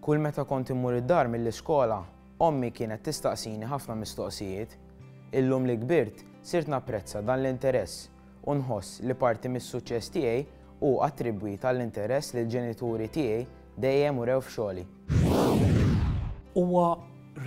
Kull meta kont immur id-dar mill-iskola, ommi kienet tistaqsini ħafna mistoqsijiet. Illum li kbirt, sirt napprezza dan l-interess u nħoss li parti mis-suċċess tiegħi hu attribwit għall-interess li l-ġenituri tiegħi dejjem urew f'xogħli. Huwa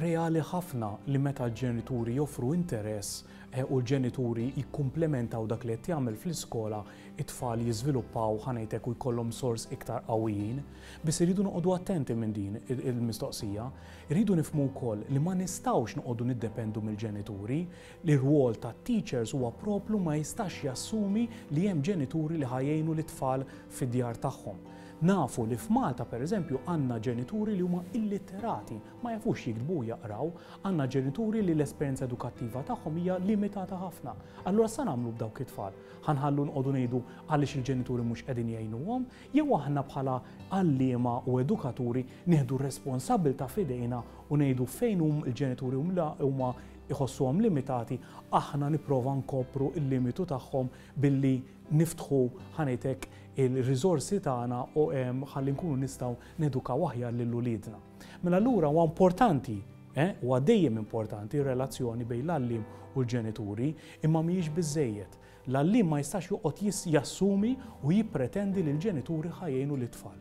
reali ħafna li meta l-ġenituri joffru interess u l-ġenituri jikkumplementaw dak li qed jagħmel fl-iskola, it-tfal jiżviluppaw, ħa ngħid hekk, u jkollhom sors iktar qawwijin. Biss irridu noqogħdu attenti minn din il-mistoqsija. Irridu nifhmu wkoll li ma nistgħux noqogħdu niddependu mill-ġenituri. L-irwol tat-teachers huwa proprju ma jistax jassumi li hemm ġenituri li ħa jgħinu lit-tfal fid-djar tagħhom. Nafu li f'Malta, pereżempju, għandna ġenituri li huma illitterati, ma jafux jiktbu u jaqraw. Għandna ġenituri li l-esperjenza edukattiva tagħhom hija limitata ħafna. Allura x'sa nagħmlu b'dawk it-tfal? Ħa nħallu nqogħdu ngħidu għaliex il-ġenituri mhux qegħdin jgħinuhom? Jew aħna bħala għalliema u edukaturi nieħdu r-responsabbiltà f'idejna u ngħidu fejn hum il-ġenituri huma jħossuhom limitati, aħna nipprova nkopru l-limitu tagħhom billi niftħu, ħa ngħid hekk, il-riżorsi tagħna u ħalli nkunu nistgħu nedukaw aħjar lil uliedna. Mela allura huwa importanti, eh, huwa dejjem importanti r-relazzjoni bejn l-għalliem u l-ġenituri, imma mhijiex biżżejjed. L-għalliem ma jistax joqgħod jassumi u jippretendi li l-ġenituri ħa jgħinu lit-tfal.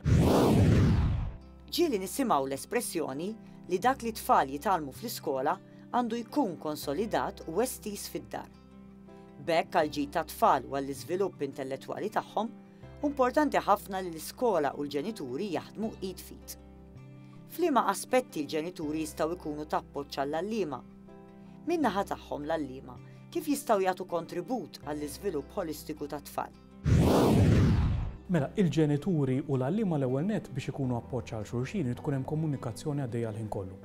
Ġieli nisimgħu l-espressjoni li dak li t-tfal jitgħallmu fl-iskola għandu jkun konsolidat u estiż fid-dar. B'hekk għall-ġid tat-tfal u għall-iżvilupp intellettwali tagħhom, hu importanti ħafna li l-iskola u l-ġenituri jaħdmu id f'id. F'liema aspetti l-ġenituri jistgħu jkunu ta' appoġġ għall-għalliema? Min-naħa tagħhom l-għalliema kif jistgħu jagħtu kontribut għall-iżvilupp ħolistiku tat-tfal? Mela, il-ġenituri u l-għalliema l-ewwel nett biex ikunu appoġġ għal xulxin irid tkun hemm komunikazzjoni għaddejja l-ħin kollu.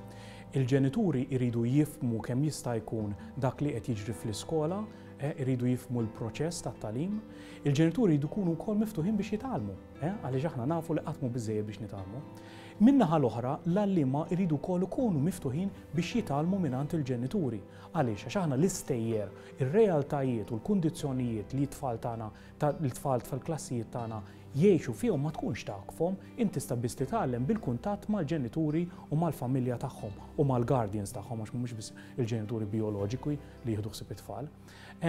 Il-ġenituri jridu jifhmu kemm jista' jkun dak li qed jiġri fl-iskola, eh, iridu jifhmu l-proċess tat-tagħlim. Il-ġenituri jridu jkunu wkoll miftuħin biex jitgħallmu, eh, għaliex aħna nafu li qatt mhu biżżejjed biex nitgħallmu. Min-naħa l-oħra, l-għalliema jridu wkoll ikunu miftuħin biex jitgħallmu mingħand il-ġenituri. Għaliex? Għax aħna l-istejjer, ir-realtajiet u l-kundizzjonijiet li t-tfal tagħna, l-tfal fil-klassijiet tagħna jgħixu fihom ma tkunx tagħhom, int tista' biss titgħallem bil-kuntatt mal-ġenituri u mal-familja tagħhom u mal-guardians tagħhom għax mhumiex biss il-ġenituri bijoloġiku li jieħdu ħsieb it-tfal.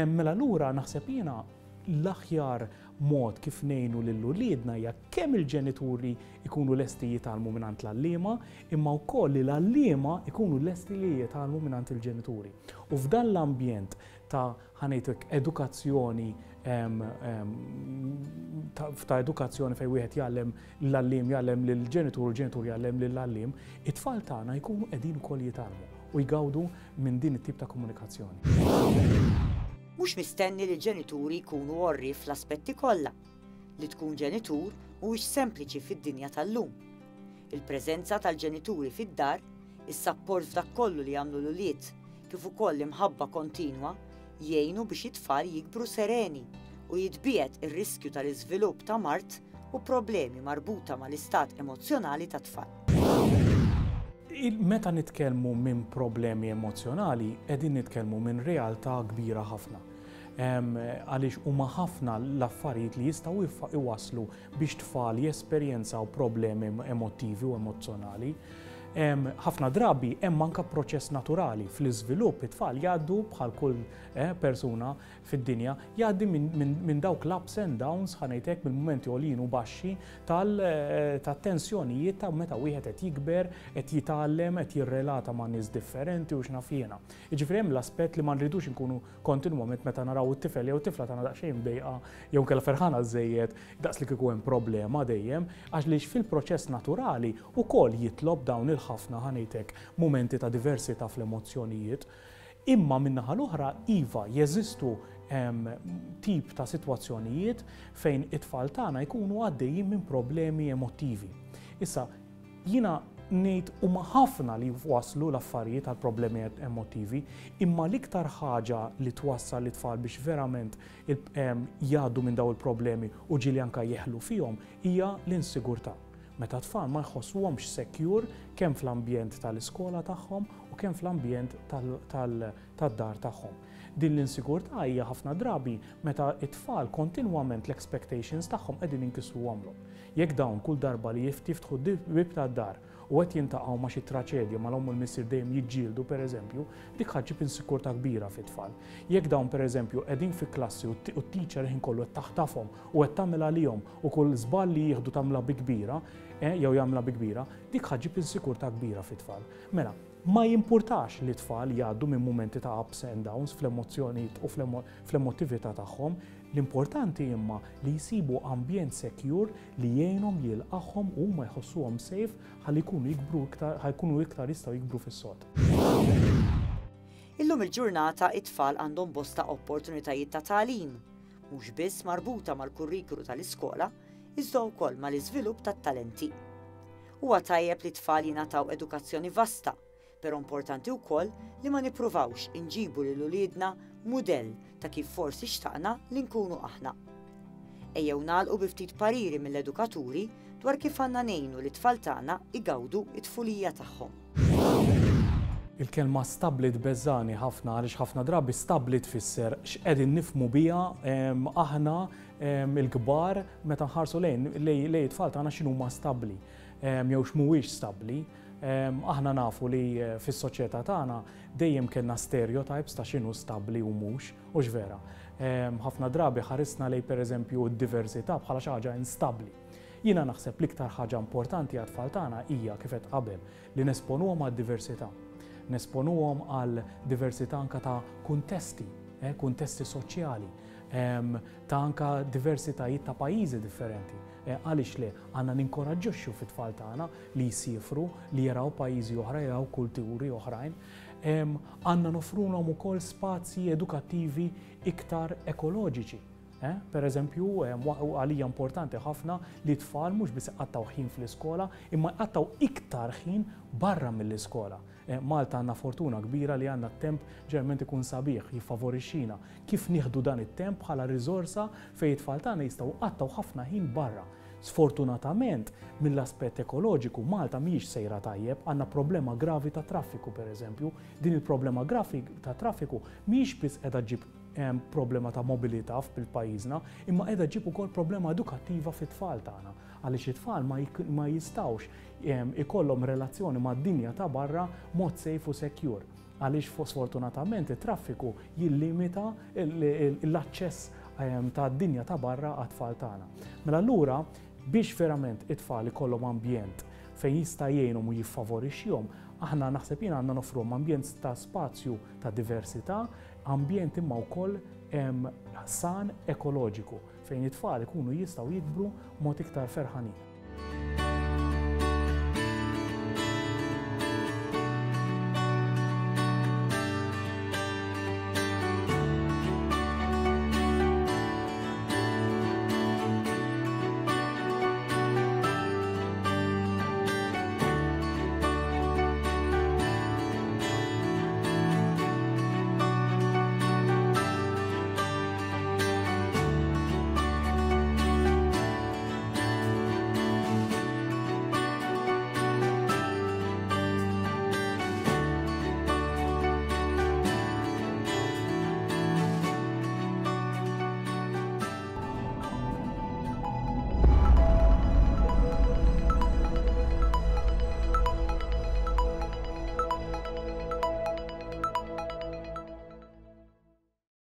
Mela allura naħseb jiena l-aħjar mod kif ngħinu lil uliedna hija kemm il-ġenituri jkunu lesti jitgħallmu mingħand l-għalliema, imma wkoll li l-għalliema jkunu lesti li jitgħallmu mingħand il-ġenituri. U f'dan l-ambjent ta' ħa ngħidlek edukazzjoni ta' edukazzjoni fejn wieħed jgħallem l-għalliem jgħallem lill-ġenitur u l-ġenitur jgħallem lill-għalliem, it-tfal tagħna jkunu qegħdin ukoll jitgħallmu u jgawdu minn din it-tip ta' komunikazzjoni. Mhux mistenni li l-ġenituri jkunu għorrief fl-aspetti kollha. Li tkun ġenitur mhuwiex sempliċi fid-dinja tal-lum. Il-preżenza tal-ġenituri fid-dar, is-sapport f'dak kollu li jagħmlu l-ulied, kif ukoll l-imħabba kontinwa jgħinu biex it-tfal jikbru sereni u jitbiegħed ir-riskju tal-iżvilupp ta' mard u problemi marbuta mal-istat emozzjonali tat-tfal. Meta nitkellmu minn problemi emozzjonali, qegħdin nitkellmu minn realtà kbira ħafna. Għaliex huma ħafna l-affarijiet li jistgħu iwasslu biex tfal jesperjenzaw problemi emottivi u emozzjonali. Ħafna drabi hemm anke proċess naturali fl-iżvilupp it-tfal jgħaddu bħal kull eh, persuna fid-dinja jgħaddi minn dawk l-ups and downs ħa ngħid hekk mill-mumenti għoljin u baxxi tat-tensjonijiet ta' meta wieħed qed jikber, qed jitgħallem, qed jirrelata ma' nies differenti u x'naf jiena. Jiġifieri hemm l-aspett li ma nridux inkunu kontinwament meta naraw it-tifel jew it-tifla tagħna daqsxejn mdejqa jew inkella ferħana żżejjed daqs li kieku hemm problema dejjem, għaliex fil-proċess naturali wkoll jitlob dawn il-ħafna ħa ngħid hekk mumenti ta' diversità fl-emozzjonijiet. Imma min-naħa l-oħra iva jeżistu tip ta' sitwazzjonijiet fejn it-tfal tagħna jkunu għaddejjin minn problemi emottivi. Issa, jiena ngħid huma ħafna li waslu l-affarijiet għal problemi emottivi, imma l-iktar ħaġa li twassal lit-tfal biex verament jgħaddu minn dawn il-problemi u ġieli anke jeħlu fihom hija l-insigurtà. Meta t-tfal ma jħossuhomx secure kemm fl-ambjent tal-iskola tagħhom u kemm fl-ambjent tad-dar tagħhom. Din l-insigurtà hija ħafna drabi meta t-tfal kontinwament l-expectations tagħhom qegħdin inkissruhomlhom. Jekk dawn kull darba li jiftħu l-bieb tad-dar u qed jiltaqgħu ma' xi traċedja mal-omm u l-missier dejjem jiġġieldu pereżempju, dik ħa ġġib insikurtà kbira fit-tfal. Jekk dawn pereżempju qegħdin fi klassi u t-teacher il-ħin kollu qed taħtafhom u qed tagħmel għalihom u kull żball li jieħdu tagħmilha bi kbira, jew jagħmilha bi kbira, dik ħa ġġib insikurtà kbira fit-tfal. Mela, ma jimpurtax li t-tfal jgħaddu minn mumenti ta' ups and downs fl-emozzjonijiet u fl-emotività tagħhom, l-importanti imma li jsibu ambjent secure li jgħinhom jilqagħhom u huma jħossuhom safe ħalli jkunu jikbru iktar ħa jkunu iktar jistgħu jikbru fis-sod. Illum il-ġurnata it-tfal għandhom bosta opportunitajiet ta' tagħlim, mhux biss marbuta mal-kurrikulu tal-iskola, iżda wkoll mal-iżvilupp tat-talenti. Huwa tajjeb li t-tfal jingħataw edukazzjoni vasta, però importanti wkoll li ma nippruvawx inġibu lil uliedna mudell ta' kif forsi xtaqna li nkunu aħna. Ejjew nagħlqu bi ftit pariri mill-edukaturi dwar kif għandna ngħinu lit-tfal tagħna jgawdu t-tfulija tagħhom. Il-kelma stabbli tbeżżagħni ħafna għaliex ħafna drabi stabbli tfisser x'qegħdin nifhmu biha aħna l-kbar meta nħarsu lejn lejn it-tfal tagħna x'inhuma stabbli jew x'mhuwiex stabbli. Aħna nafu li fis-soċjetà tagħna dejjem kellna stereotypes ta' x'inhu stabbli u mhux, hux vera? Ħafna drabi ħarisna lejn pereżempju d-diversità bħala xi ħaġa instabbli. Jiena naħseb l-iktar ħaġa importanti għat-tfal tagħna hija, kif għedt qabel, li nesponuhom għad-diversità. Nesponuhom għal diversità anke ta' kuntesti, kuntesti soċjali, ta' anke diversitajiet ta' pajjiżi differenti. Għaliex le? Għandna ninkoraġġixxu fit-tfal tagħna li jsiefru, li jaraw pajjiżi oħra, jaraw kulturi oħrajn. Għandna noffrulhom ukoll spazji edukattivi iktar ekoloġiċi. Per eżempju, għalija importanti ħafna li t-tfal mhux biss iqattgħu ħin fl-iskola, imma jqattgħu iktar ħin barra mill-iskola. Malta għandna fortuna kbira li għandna t-temp ġeneralment ikun sabiħ, jiffavorixxina. Kif nieħdu dan it-temp bħala riżorsa fejn it-tfal tagħna jistgħu jqattgħu ħafna ħin barra. Sfortunatament, mill-aspett ekoloġiku, Malta mhijiex sejra tajjeb, għandna problema gravi ta' traffiku pereżempju. Din il-problema gravi ta' traffiku mhijiex biss qiegħda ġġib problema ta' mobilità f'pajjiżna, imma qiegħda ġġib ukoll problema edukattiva fit-tfal tagħna, għaliex it-tfal ma jistgħux ikollhom relazzjoni mad-dinja ta' barra mod safe u secure, għaliex sfortunatament it-traffiku jillimita l-aċċess tad-dinja ta' barra għat-tfal tagħna. Mela allura biex verament it-tfal ikollhom ambjent fejn jista' jgħinhom u jiffavorixxihom, aħna naħseb jien għandna noffruhom ambjent ta' spazju ta' diversità, ambjent imma wkoll san ekoloġiku fejn it-tfal ikunu jistgħu jikbru mod iktar ferħanin.